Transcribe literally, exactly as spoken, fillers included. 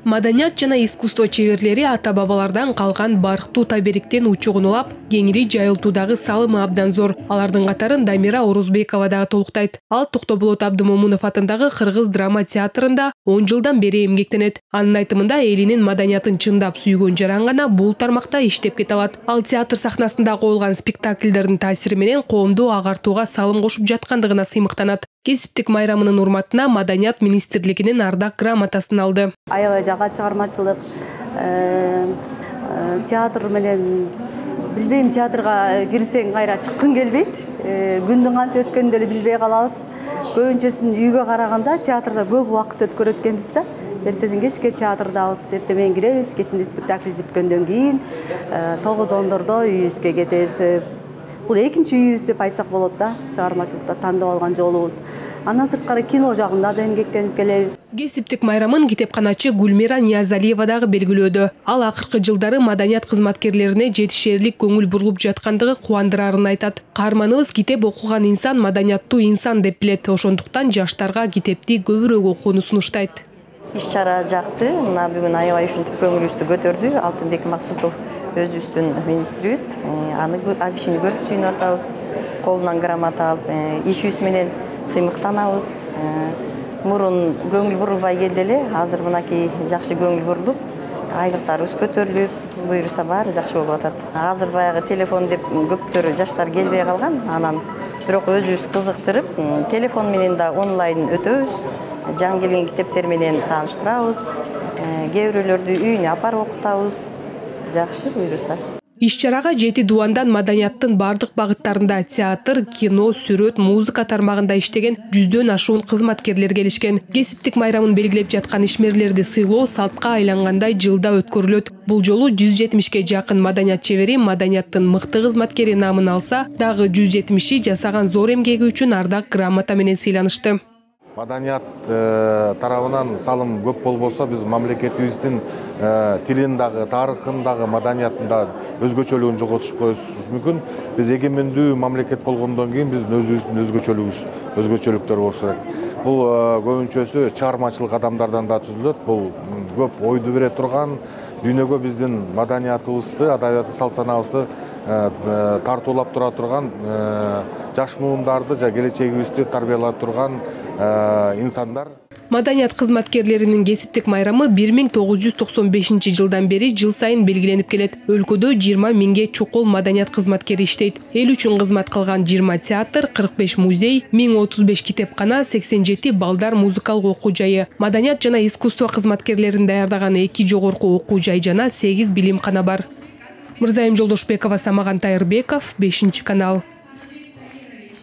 Маданият жана искусство чеберлери ата-бабалардан калган барктуу табериктен учугун улап, кеңири жайылтуудагы салымы абдан зор. Алардын катарын Дамира Орозбекова дагы толуктайт. Ал Токтоболот Абдымомунов атындагы Кыргыз драма театрында он жылдан бери эмгектенет. Анын айтымында элинин маданиятын чындап сүйгөн жаран гана бул тармакта иштеп кете алат. Ал театр сахнасында коюлган спектакльдердин таасири менен коомду агартууга салым кошуп жаткандыгына сыймыктанат. Кесиптик майрамынын урматына Маданият министрлигинин ардак грамотасын алды. Аябай жага чыгармачылык, театр менен билбейм, театрга кирсең кайра чыккың келбейт. Күндүн кантип өткөнүн деле билбей калабыз. Көбүнчөсүн үйгө караганда театрда көп убакыт өткөрөт экенбиз да. Эртеден кечке театрдабыз, эртең менен киребиз, кечинде спектакль бүткөндөн кийин тогуз ондордо үйүбүзгө кетебиз. Бул экинчи үйүбүз деп айтсак болот да, чыгармачылыкта тандап алган жолубуз. Андан сырткары кино жагында да эмгектенип келебиз. Кесиптик майрамын китепканачы Гүлмира Ниязалиева дагы белгилөөдө. Ал акыркы жылдары маданият кызматкерлерине жетишерлик көңүл бурулуп жаткандыгы кубандырарын айтат. Каарманыбыз китеп окуган инсан маданияттуу инсан деп билет. Ошондуктан жаштарга китепти көбүрөөк окууну сунуштайт. Иш-чара жакты. Мына бүгүн аябай ушинтип көңүлүбүздү көтөрдү. Алтынбек Максутов өзүбүздүн министрибиз. Аны ал кишини көрүп сүйүнүп атабыз. Колунан грамота алып, ишибиз менен сыймыктанабыз. Мурун көңүл бурулбай келди эле, азыр мынакей жакшы көңүл бурулуп, айлыктарыбыз көтөрүлүп, буюрса баары жакшы болуп атат. Азыр баягы телефон деп көптөр жаштар келбей калган, анан бирок өзүбүз кызыктырып, телефон менен да онлайн өтөбүз. Жаңы келген китептер менен тааныштырабыз. Кээ бирөөлөрдү үйүнө апарып окутабыз. Жакшы буюрса. Иш-чарага жети дубандан маданияттын бардык багыттарында театр, кино, сүрөт, музыка тармагында иштеген жүздөн ашуун кызматкерлер келишкен. Кесиптик майрамын белгилеп жаткан ишмерлерди сыйлоо салтка айлангандай жылда өткөрүлөт. Бул жолу жүз жетимишке жакын маданият чебери маданияттын мыкты кызматкери наамын алса, дагы жүз жетимиши жасаган зор эмгеги үчүн ардак грамота менен сыйланышты. Маданият тарабынан салым көп болбосо, биз мамлекетибиздин тилин дагы, тарыхын дагы, маданиятын дагы өзгөчөлүгүн жоготушуп коюшубуз мүмкүн. Биз эгемендүү мамлекет болгондон кийин биздин өзүбүздүн өзгөчөлүгүбүз, өзгөчөлүктөр болушу керек. Бул көбүнчөсү чыгармачылык адамдардан да түзүлөт. Бул көп ойду бере турган, дүйнөгө биздин маданиятыбызды, адабиятыбызды, салт санаабызды тартуулап тура турган жаш муумдарды жана келечегибизди тарбиялап турган инсандар. Маданият кызматкерлеринин кесиптик майрамы бир миң тогуз жүз токсон бешинчи жылдан бери жыл сайын белгиленип келет. Өлкөдө жыйырма миңге чукул маданият кызматкери иштейт. Эл үчүн кызмат кылган жыйырма театр, кырк беш музей, миң отуз беш китепкана, сексен жети балдар музыкалык окуу жайы, маданият жана искусство кызматкерлерин даярдаган эки жогорку окуу жай жана сегиз билимкана бар. Мырзайым Жолдошбекова, Самаган Тайырбеков, бешинчи канал.